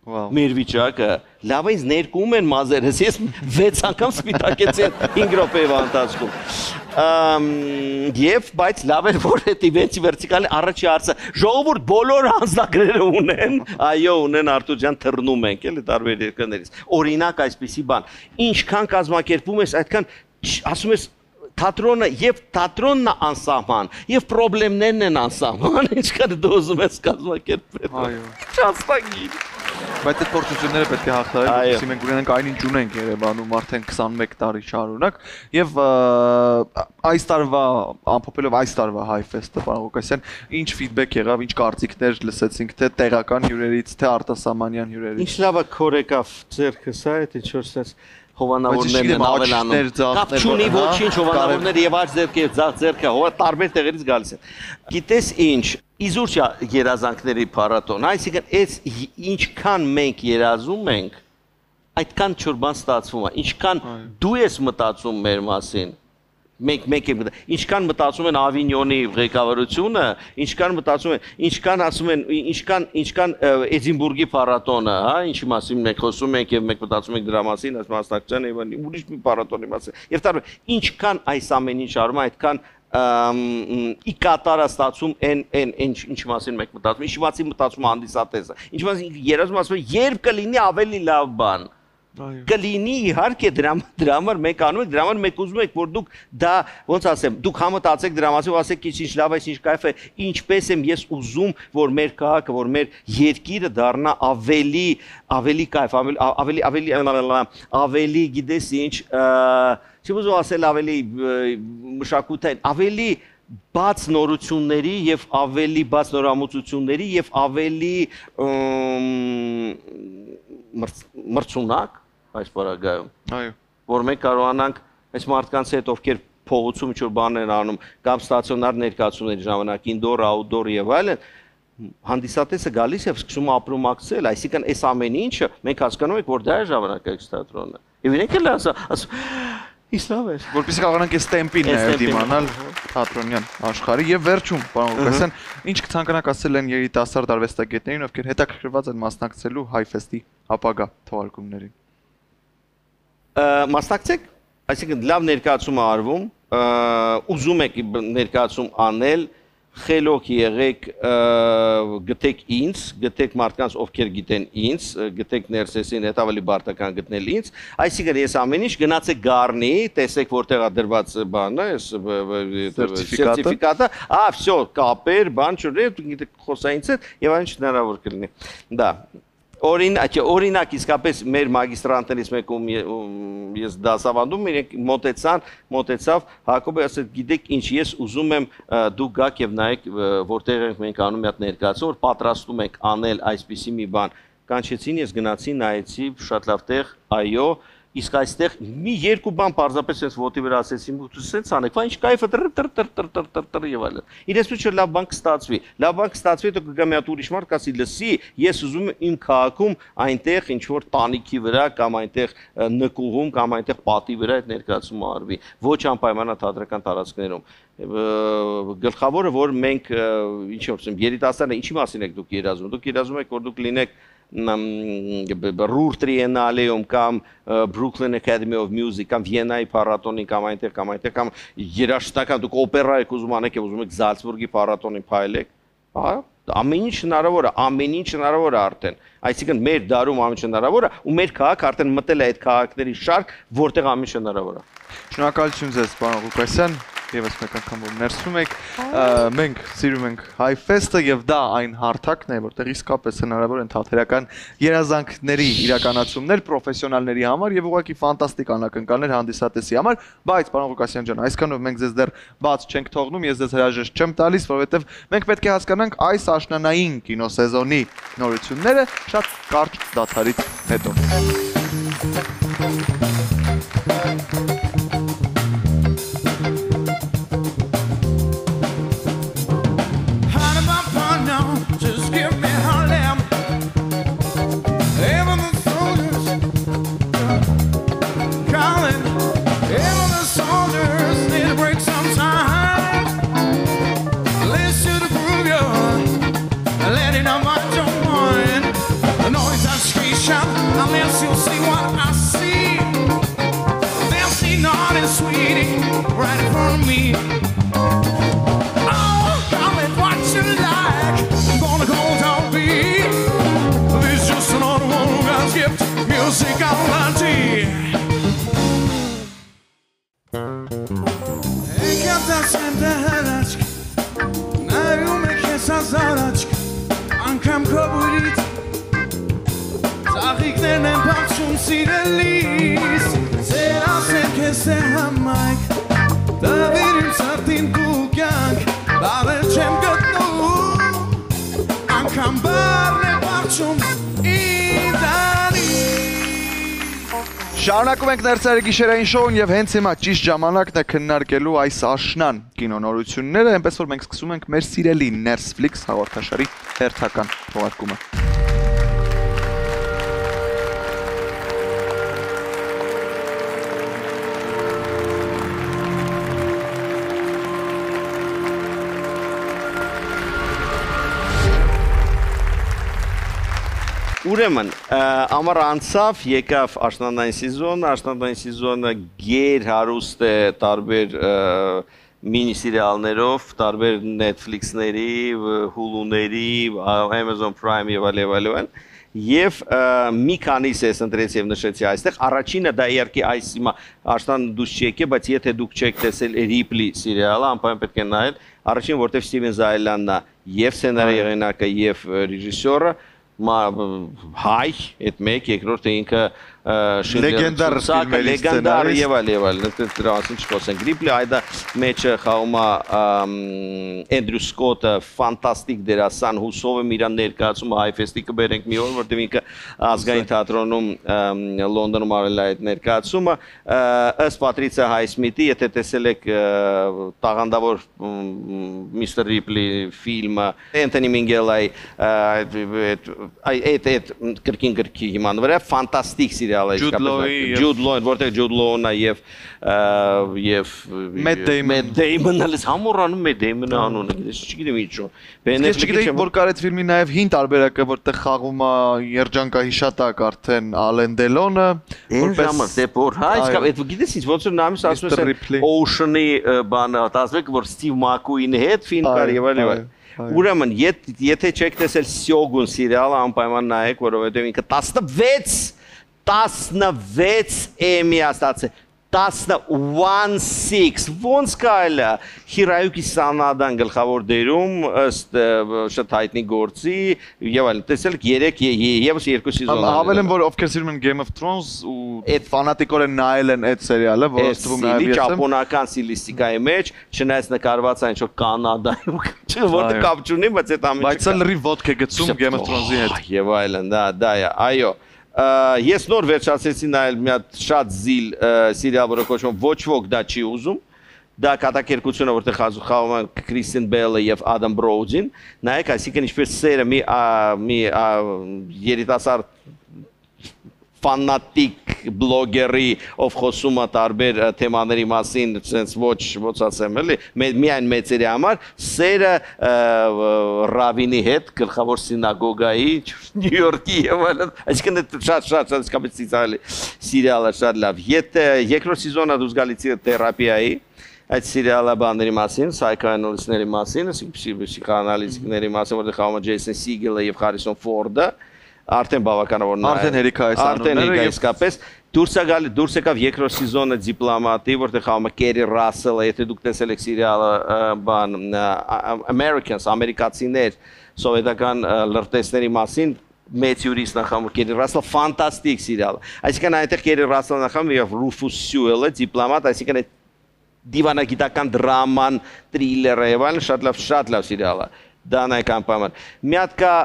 Մեր վիճակը լավ է ինձ ներկում են մազերս ես 6 անգամ սպիտակեցի 5 րոպեվա ընթացքում Եվ բայց լավ էր որ այդ իվենտի վերտիկալի առաջի հարցը ժողովուրդ բոլոր անձնագրերը ունեն այո ունեն Արտուր ջան թռնում ենք էլի տարբեր երկրներից օրինակ այսպիսի բան ինչքան կազմակերպում ես այդքան ասում ես թատրոնը եւ թատրոնն է անսահման եւ խնդիրներն են անսահման ինչքան դու ուզում ես կազմակերպել այո ճաստագիր Բայց այդ փորձությունները պետք է հաղթահարել, որպեսզի մենք ունենանք այնինչ ունենք Երևանում արդեն 21 տարի շարունակ եւ այս տարվա ամփոփելով այս տարվա Հայֆեստը պարոն Ղուկասյան ինչ ֆիդբեք եղավ, ինչ կարծիքներ լսեցինք թե տեղական հյուրերից, թե արտասահմանյան հյուրերից Ինչ լավ է քոր եկավ ձերքս է, այդ ինչ որ sense հովանավորներն ավելանում Կապ չունի ոչինչ հովանավորները եւ աջ ձերքը եւ ձախ ձերքը տարբեր տեղերից գալիս են Գիտես ինչ Իզուր երազանքների փառատոն, այսինքն այս ինչքան մենք երազում ենք, այդքան չորբան ստացվում է, ինչքան դու ես մտածում մեր մասին, ինչքան մտածում են Ավինյոնի ղեկավարությունը, ինչքան մտածում են, ինչքան ասում են, ինչքան Էդինբուրգի փառատոնը, հա, ինչի մասին մենք խոսում ենք եւ մենք մտածում ենք դրա մասին, այս մասնակցության եւ ուրիշ մի փառատոնի մասին։ Եվ տարբեր, ինչքան այս ամեն ինչ արվում է, այդքան ի կատարա ստացում ինչ մասին մենք մտածում, ինչ մասին մտածում հանդիսատեսը, ինչ մասին երազում ասում երբ կլինի ավելի լավ բան, կլինի իհարկե դրա համար մենք անում ենք, դրա համար մենք ուզում ենք, որ դուք դա, ոնց ասեմ, դուք համտածեք դրա մասին ու ասեք ինչ լավ է, ինչ կայֆ է, ինչպես եմ ես ուզում, որ մեր քաղաքը, որ մեր երկիրը դառնա ավելի կայֆ, ավելի գիտես ինչ չեմ ուզում ասել ավելի մշակութային, ավելի բաց նորությունների եւ ավելի բաց նորամուծությունների եւ ավելի մրցունակ այս բaragայում։ Այո։ Որ մենք կարողանանք այս մարդկանց հետ ովքեր փողոցում ինչ-որ բաներ անում կամ ստացիոնար ներկայացումների ժամանակ indoor, outdoor եւ այլն, հանդիսատեսը գալիս եւ սկսում ապրումակցել, այսինքն այս ամեն ինչը մենք հասկանում ենք, որ դա է ժամանակակից թատրոնը։ Եվ իրենք էլ ասում Իսլավ է։ Որպեսզի կարողանանք այս տեմպին նաև դիմանալ թատրոնյան աշխարհի եւ վերջում, պարոն Ղուկասյան, ինչ կցանկանաք ասել են երիտասարդ արվեստագետներին, ովքեր հետաքրքրված են մասնակցելու Հայֆեստի ապագա թողարկումներին։ Մասնակցեք, այսինքն լավ ներկայացում է արվում, ուզում եք ներկայացում անել, խելոք եղեք, գտեք ինձ, գտեք մարդկանց, ովքեր գիտեն ինձ, գտեք ներսեսին, հետ ավելի բարտական գտնել ինձ, այսինքն ես ամեն ինչ գնացեք Գառնի, տեսեք որտեղ է դրված բանը, այս սերտիֆիկատը, վсё, կապեր, բան չուներ, գիտեք խոսայինց հետ եւ այն հնարավոր կլինի։ Դա Օրինակ իսկապես մեր մագիստրանտներից մեկում ես դասավանդում, իրենք մոտեցավ, Հակոբը ասեց, գիտեք ինչ, ես ուզում եմ դուք գաք եւ նայեք, որտեղ ենք մենք անում մի հատ ներկայացում, որ պատրաստում ենք անել այսպիսի մի բան։ Կանչեցին, ես գնացի, նայեցի, շատ լավ տեղ, այո, իսկ այստեղ մի երկու բան պարզապես ես ոտի վրա ասեցի, սենց անեք, ինչ կայֆը եւ այլն։ Իրենցու լավ բան կստացվի։ Լավ բան կստացվի, հետո կգա մի հատ ուրիշ մարդ կասի, լսի, ես ուզում եմ իմ քաղաքում այնտեղ ինչ որ տանիքի վրա կամ այնտեղ նկուղում կամ այնտեղ պատի վրա այդ ներկայացումը արվի։ Ոչ անպայմանա թատրական տարածքներում։ Գլխավորը որ մենք ինչ ասեմ, երիտասարդները ինչի մասին եք դուք երազում։ Դուք երազում եք որ դուք լինեք Ruhr Triennale-ում կամ Brooklyn Academy of Music կամ Վիեննայի փառատոնին կամ այնտեղ կամ երաժշտական դուք օպերա եք ուզում անեք եւ ուզում եք Զալցբուրգի փառատոնին փայլեք, հա, ամեն ինչ հնարավոր է արդեն։ Այսինքն մեր դարում ամեն ինչ հնարավոր է ու մեր քաղաք արդեն մտել է այդ քաղաքների շարք, որտեղ ամեն ինչ հնարավոր է։ Շնորհակալություն ձեզ, պարոն Ղուկասյան։ Եվս մեկ անգամ որ ներսում եք, մենք սիրում ենք Հայֆեստը եւ դա այն հարթակն է, որտեղ իսկապես հնարավոր են թատերական երազանքների իրականացումներ պրոֆեսիոնալների համար եւ ուղղակի ֆանտաստիկ անակնկալներ հանդիսատեսի համար, բայց պարոն Ղուկասյան ջան, այսքանով մենք ձեզ դեռ բաց չենք թողնում, ես ձեզ հրաժեշտ չեմ տալիս, որովհետեւ մենք պետք է հասկանանք այս աշնանային կինոսեզոնի նորությունները շատ կարճ դադարից հետո։ Unless you'll see what I see, they'll see naughty sweetie right in front of me. Oh, call it what you like, I'm gonna go down beat. This is just another one who got gift music on my tea. Ekata sende helaçk, nayum ekesa zaraçk, ankam kabulit. Աղիքներն են բացում սիրելիս, ձեր ասենք ես է համայք, դավիր իմ սրտին դու կյանք, բավեր չեմ գտնում, անգամ բարն է բացում իդանի։ Շարունակում ենք ներսերի գիշերային շոուն եւ հենց հիմա ճիշտ ժամանակն է քննարկելու այս աշնան կինոնորությունները, այնպես որ մենք սկսում ենք մեր սիրելի Netflix հաղորդաշարի հերթական թողարկումը։ Ուրեմն, ամառ անցավ, եկավ աշնանային սեզոնը գեր հարուստ է տարբեր մինի սիրիալներով, տարբեր Netflix-ների, Hulu-ների, Amazon Prime եւ այլն, եւ մի քանիս ես ընտրեցի եւ նշեցի այստեղ, առաջինը դա իհարկե այս հիմա աշնան դուս չեկե, բայց եթե դուք չեք տեսել Ripley սիրիալը, անպայման պետք է նայել, առաջին որտեղ Steven Zaylanն է եւ սցենարի հեղինակը եւ ռեժիսորը, հայ, այդ մեկ, երկրորդը ինքը Լեգենդար ֆիլմերի լեգենդար եւ այլ դրա մասին չխոսենք Ռիպլի այդա մեջը խաղում է Էնդրյու Սկոթը ֆանտաստիկ դերասան հուսով եմ իրան ներկայացումը Հայֆեստի կբերենք մի օր որտեղ ինքը ազգային թատրոնում Լոնդոնում արել է այդ ներկայացումը ըստ Պատրիցիա Հայսմիթի եթե տեսել եք տաղանդավոր Միսթեր Ռիպլի ֆիլմը Անթոնի Մինգելայի այդ կրկին գրքի հիման վրա ֆանտաստիկ սիրիալ է Ջուդ Լոուն որտեղ Ջուդ Լոուն է եւ Մեթ Դեյմոնը լես համորանում Մեթ Դեյմոնը անունը չգիտեմ ինչու Ես չգիտեի որ կար այդ ֆիլմի նաեւ հին տարբերակը որտեղ խաղում է երջանկահիշատակ արդեն Ալեն Դելոնը որպես դեպոր հայ այդ գիտես ինչ ոնց որ նամից ասում ես Ocean-ի բանը ասվեք որ Ստիվ Մակուին հետ ֆիլմ կար եւ այլ Ուրեմն եթե չեք տեսել Սյոգուն սիրիալը անպայման նայեք որովհետեւ ինքը 16 Էմի աստացել 16 ոնց կարելի է Հիրայուկի Սանադան գլխավոր դերում ըստ շատ հայտնի գործի եւ այլն տեսել 3 եւս 2 սեզոն Հավել եմ որ ովքեր սիրում են Game of Thrones ու այդ ֆանատիկորեն նայել են այդ սերիալը որը ստվում նաեւ ես ճապոնական ստիլիստիկայի մեջ չնայած նկարված այն որ Կանադայում որտեղ կապ չունի բայց այդ ամենը բայց լրիվ ոդք է գցում Game of Thrones-ի հետ եւ այլն դա է այո Ես նոր վերջացեցի նայել մի հատ շատ զիլ սիրիալ որը կոչվում ոչ ոք դա չի ուզում դա կատակերգությունը որտեղ խաղում են Քրիստին Բելը եւ Ադամ Բրոուդին նայեք այսինքն ինչպես սերը մի երիտասարդ ֆանատիկ բլոգերի ով խոսում է տարբեր թեմաների մասին, sense ոչ ասեմ էլի, միայն մեծերի համար, սերը ռավինի հետ գլխավոր սինագոգայի Նյու Յորքի եւ այլն, այսինքն շատ իսկապես սիրիալը շատ լավ։ Եթե երկրորդ սեզոնը դուք գալիս եք թերապիայի այդ սիրիալը բաների մասին, սայքոանալիստների մասին, պսիխոանալիստների մասին, որտեղ խաղում է Ջեյսոն Սիգելը եւ Հարիսոն Ֆորդը Արդեն բավականավոր նայ։ Արդեն հերիքա այս անունները իսկապես դուրս եկավ երկրորդ սեզոնը դիպլոմատի, որտեղ խաղում է Կերի Ռասելը, եթե դուք տեսել եք սիրիալը բան Americans, ամերիկացիներ, սովետական լրտեսների մասին մեծ յուրիստ նախամ Կերի Ռասելը ֆանտաստիկ սիրիալ։ Այսինքն այնտեղ Կերի Ռասելը նախամ եւ Ռուֆուս Սյուելը դիպլոմատ, այսինքն դիվանագիտական դրաման, թրիլերը եւ այլն շատ լավ սիրիալ է։ Դանայական պայման։ Մի հատ կա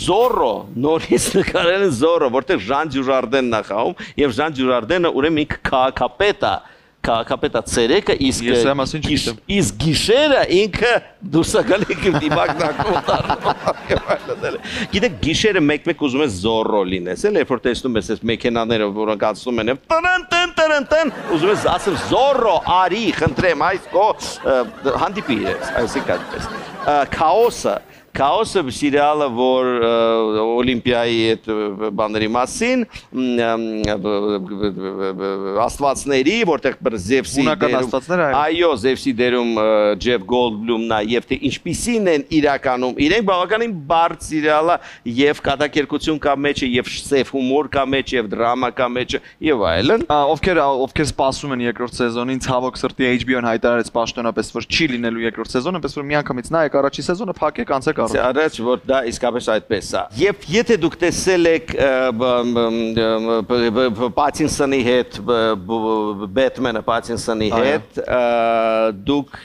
Զորո, նորից նկարել են Զորո, որտեղ Ժան Դյուժարդենն է խաղում, եւ Ժան Դյուժարդենը ուրեմն ինքը քաղաքապետ է ցերեկը, իսկ գիշերը ինքը դուրս է գալի դիմակնակում դառնում։ Գիտեք, գիշերը մեկ-մեկ ուզում ես Զորո լինես, էլ երբ որ տեսնում ես այս մեքենաները, որոնք անցնում են, տն, ուզում ես ասել Զորո, արի, խնդրեմ, այս կո հանդիպի ես, այսինքն այդպես։ Քաոսը սիրիալը, որ Օլիմպիայի այդ բաների մասին, աստվածների, որտեղ Զևսի դերում, այո, Զևսի դերում Ջեֆ Գոլդբլումն է, եւ թե ինչպիսին են իրականում, իրենք բավականին բարդ սիրիալ է, եւ կատակերգություն կա մեջը, եւ սև հումոր կա մեջը, եւ դրամա կա մեջը, եւ այլն։ Ովքեր սպասում են երկրորդ սեզոնին, ցավոք սրտի HBO-ն հայտարարեց պաշտոնապես, որ չի լինելու երկրորդ սեզոնը, պես որ միանգամից նայեք առաջի սեզոնը, փակեք, անցեք Առաջ որ դա իսկապես այդպես է։ Եվ եթե դուք տեսել եք Պատինսոնի հետ, Բեթմենը Պատինսոնի հետ, դուք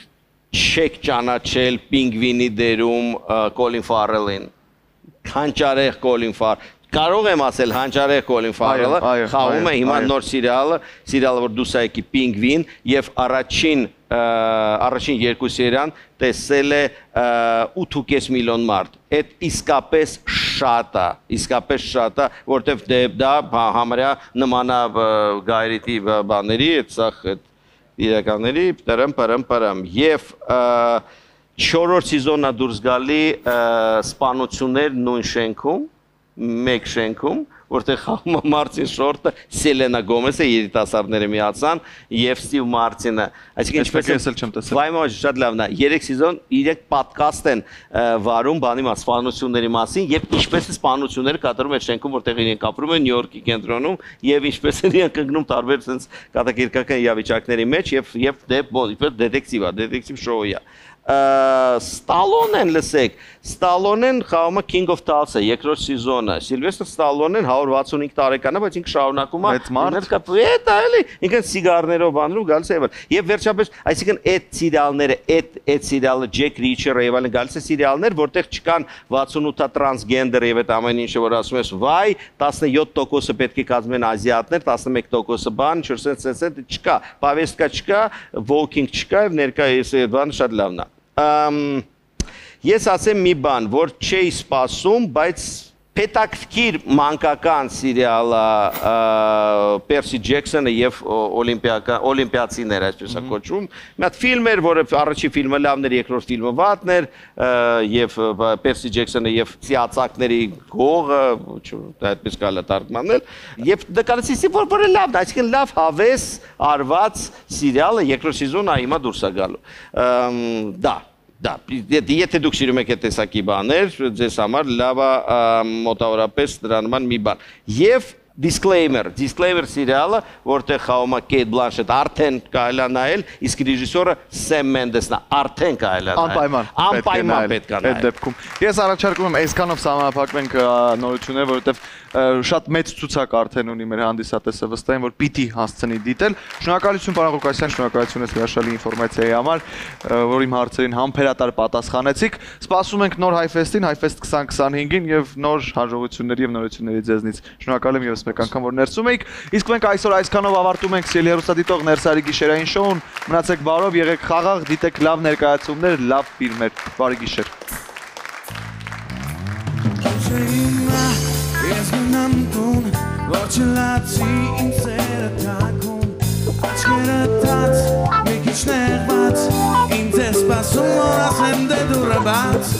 չեք ճանաչել Պինգվինի դերում Կոլին Ֆարելին։ Հանճարեղ Կոլին Ֆարել։ Կարող եմ ասել հանճարեղ Կոլին Ֆարելը խաղում է հիմա նոր սիրիալը, որ դուս եկի Պինգվին եւ առաջին երկու սերիան տեսել է 8.5 միլիոն մարդ։ Այդ իսկապես շատ է, որտեվ դա համարյա նմանա գայրիտի բաների, այդ սախ իրականների, պրմ։ Եվ 4-րդ սեզոնը դուրս գալի սպանություններ նույն շենքում, մեկ շենքում, որտեղ խաղում է Մարտին Շորտը, Սելենա Գոմեսը, երիտասարդները միացան եւ Ստիվ Մարտինը։ Այսինքն ինչպես վայմա շատ լավն է։ 3 սեզոն 3 պոդքասթ են վարում բանի մաս սպանությունների մասին եւ ինչպես է սպանությունները կատարում այդ շենքում, որտեղ իրենք ապրում են Նյու Յորքի կենտրոնում եւ ինչպես են իրենք ընկնում տարբեր sense կատակերգական իրավիճակների մեջ եւ դեպքեր դետեկտիվ շոու է։ Ստալոնեն լսեք, Ստալոնեն խաղում է King of Tulsa երկրորդ սեզոնը։ Սիլվեստր Ստալոնեն 165 տարեկան է, բայց ինքը շարունակում է ինքը սիգարներով բանալու գալիս է եւ վերջապես, այսինքն այդ սերիալները, այդ սերիալը Ջեք Ռիչերը եւ այլն գալիս է սերիալներ, որտեղ չկան 68-ա տրանսգենդեր եւ այդ ամեն ինչը, որ ասում ես, վայ, 17%-ը պետք է կազմեն ազիատներ, 11%-ը բան, 4% չկա, պավեստկա չկա, walking չկա եւ ներկա է բան շատ լավն է։ Ես ասեմ մի բան, որ չէի սպասում, բայց Պետակտիր մանկական սերիալը Պերսի Ջեքսոնը եւ օլիմպիացիները, այսպես է կոչվում։ Մի հատ ֆիլմ էր, որը առաջի ֆիլմը լավն էր, երկրորդ ֆիլմը վատն էր, եւ Պերսի Ջեքսոնը եւ Սիացակների գողը, այդպես կարելի է թարգմանել, եւ նկարեցի, որ լավն է, այսինքն լավ հավես արված սերիալը երկրորդ սեզոնը հիմա դուրս է գալու։ Դա, եթե դուք սիրում եք այդ տեսակի բաներ, ձեզ համար լավ է մոտավորապես դրա նման մի բան։ Եվ Disclaimer սերիալը, որտեղ խաղում է Կեյթ Բլանշետ, արդեն կարելի է նայել, իսկ ռեժիսորը Սեմ Մենդեսն է, արդեն կարելի է նայել։ Անպայման պետք է նայել։ Այդ դեպքում ես առաջարկում եմ այսքանով սահմանափակվենք նորությունները, որովհետև շատ մեծ ցուցակ արդեն ունի մեր հանդիսատեսը, վստահ եմ, որ պիտի հասցնի դիտել։ Շնորհակալություն պարոն Ղուկասյան, շնորհակալություն ես հրաշալի ինֆորմացիայի համար, որ իմ հարցերին համբերատար պատասխանեցիք։ Սպասում ենք նոր Հայֆեստին, Հայֆեստ 2025-ին եւ նոր հաջողությունների եւ նորությունների ձեզնից։ Շնորհակալ եմ եւս մեկ անգամ, որ ներսում եք։ Իսկ մենք այսօր այսքանով ավարտում ենք Սիրելի հեռուստադիտող Ներսարի գիշերային շոուն։ Մնացեք բարով, եղեք խաղաղ, դիտեք լավ ներկայացումներ, լավ ֆիլմեր։ Բարի գիշեր։ Ես գնամ տուն, որ չլացի իմ սերը թակում, աչքերը տաց, մի քիչ նեղված, ինձ է սպասում, որ ասեմ դե դուրը բաց,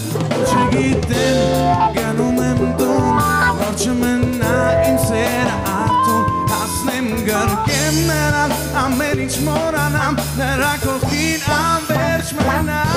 չգիտեմ, գնում եմ տուն, որ չմնա իմ սերը արտում, հասնեմ գրկեմ նրան, ամեն ինչ մորանամ, նրա կողքին անվերջ մնամ